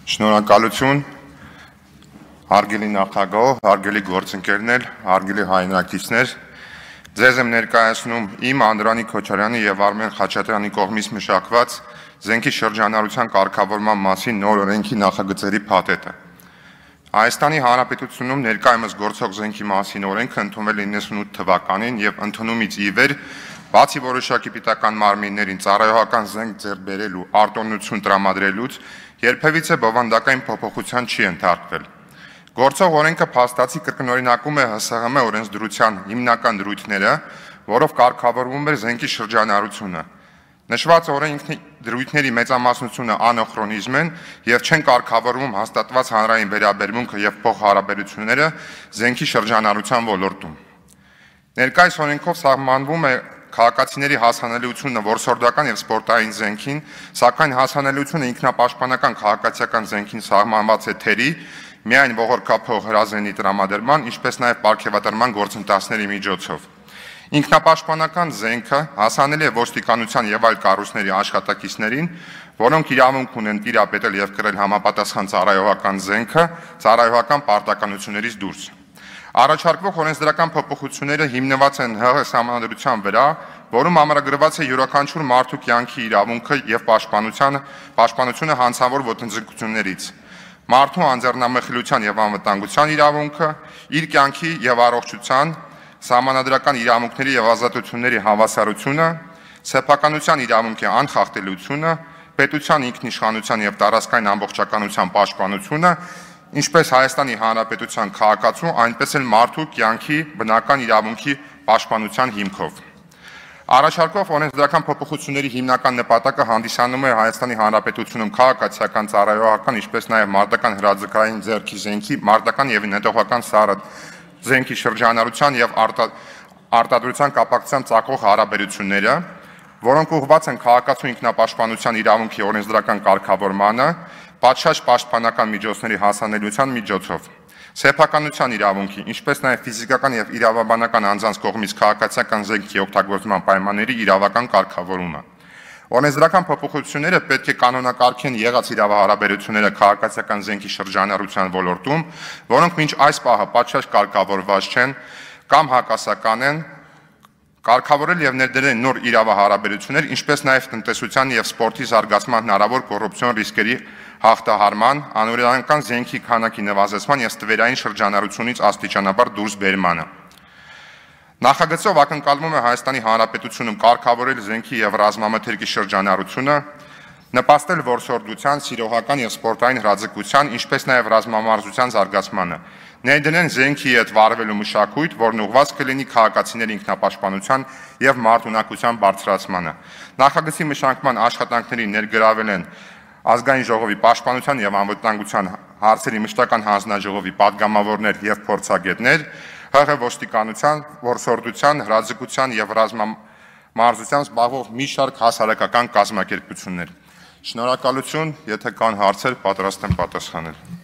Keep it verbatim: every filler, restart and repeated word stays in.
Շնորհակալություն, հարգելի նախագահ, հարգելի գործընկերներ, հարգելի հայրենակիցներ, ձեզ եմ ներկայացնում իմ Անդրանիկ Քոչարյանի եւ Արմեն Խաչատրյանի կողմից մշակված զենքի շրջանառության կարգավորման մասին նոր օրենքի նախագծերի փաթեթը։ Հայաստանի Հանրապետությունում ներկայումս գործող զենքի մասին օրենքը ընդունվել է իննսունութ թվականին եւ ընդունումից ի վեր բացի որոշակի պետական մարմիններին ծառայողական զենք ձեռք բերելու արտոնություն տրամադրելուց երբևիցե բովանդակային փոփոխության չի ենթարկվել։ Գործող օրենքը փաստացի կրկնօրինակում է ՀՍՀՄ օրենսդրության հիմնական դրույթները, որով կարգավորվում է զենքի շրջանառությունը։ Նշված օրենքի դրույթների մեծամասնությունը անոխրոնիզմ են եւ չեն կարգավորվում հաստատված հանրային վերաբերմունքը եւ փոխհարաբերությունները զենքի շրջանառության ոլորտում։ Ներկայիս օրենքով սահմանվում է քաղաքացիների հասանելիությունը որսորդական եւ սպորտային զենքին, սակայն հասանելիությունը ինքնապաշտպանական քաղաքացիական զենքին սահմանված է թերի, միայն ողորկափող հրազենի տրամադրման, ինչպես նաեւ պարգևատրման գործընթացների միջոցով։ Ինքնապաշտպանական զենքը հասանելի է ոստիկանության եւ այլ կառույցների աշխատակիցներին, որոնք իրավունք ունեն տիրապետել եւ կրել համապատասխան ծառայողական զենքը ծառայողական պարտականություններից դուրս։ Առաջարկվող օրենսդրական փոփոխությունները հիմնված են ՀՀ Սահմանադրության վրա, որում ամրագրված է յուրաքանչյուր մարդու կյանքի իրավունքը եւ պաշտպանության պաշտպանությունը հանցավոր ոտնձգություններից։ Մարդու անձեռնամխելիության եւ անվտանգության իրավունքը, իր կյանքի եւ առողջության, սահմանադրական իրավունքների եւ ազատությունների հավասարությունը, սեփականության իրավունքի անխախտելիությունը, պետության ինքնիշխանության եւ տարածքային ամբողջականության պաշտպանությունը, ինչպես Հայաստանի Հանրապետության քաղաքացու, այնպես էլ մարդու կյանքի բնական իրավունքի պաշտպանության հիմքով։ Առաջարկվող օրենսդրական փոփոխությունների հիմնական նպատակը հանդիսանում է Հայաստանի Հանրապետությունում քաղաքացիական ծառայողական, ինչպես նաև մարտական հրաձգային ձեռքի զենքի, մարտական եւ նետողական սառը զենքի շրջանառության եւ արտադրության կապակցությամբ ծագող հարաբերությունները, որոնք ուղղված են քաղաքացու ինքնապաշտպանության իրավունքի օրենսդրական կարգավորմանը, պատշաճ պաշտպանական միջոցների հասանելիության միջոցով, սեփականության իրավունքի, ինչպես նաև ֆիզիկական եւ իրավաբանական անձանց կողմից քաղաքացիական զենքի օգտագործման պայմանների իրավական կարգավորումը։ Օրենսդրական փոփոխությունները պետք է կանոնակարգեն եղած իրավահարաբերությունները քաղաքացիական զենքի շրջանառության ոլորտում, որոնք մինչ այս պահը պատշաճ կարգավորված չեն կամ հակասական են, կարգավորել եւ ներդրել նոր իրավահարաբերություններ, ինչպես նաև տնտեսության եւ սպորտի զարգացման հնարավոր կոռուպցիոն ռիսկերի հաղթահարման, անօրինական զենքի քանակի նվազեցման եւ ստվերային շրջանառությունից աստիճանաբար դուրս բերմանը։ Նախագծով ակնկալվում է Հայաստանի Հանրապետությունում կարգավորել զենքի եւ ռազմամթերքի շրջանառությունը, նպաստել որսորդության, սիրողական եւ սպորտային հրաձգության, ինչպես նաեւ ռազմամարզության զարգացմանը, ներդնեն զենքի հետ վարվելու մշակույթ, որն ուղղված կլինի քաղաքացիների ինքնապաշտպանության եւ մարդունակության բարձրացմանը։ Նախագծի մշակման աշխատանքների ներգրավել են Ազգային ժողովի պաշտպանության եւ անվտանգության հարցերի մշտական հանձնաժողովի պատգամավորներ եւ փորձագետներ, ՀՀ ոստիկանության, որսորդության, հրաձգության եւ ռազմամարզության զբաղվող մի շարք հասարակական կազմակերպություններ։ Շնորհակալություն, եթե կան հարցեր, պատրաստ եմ պատասխանել։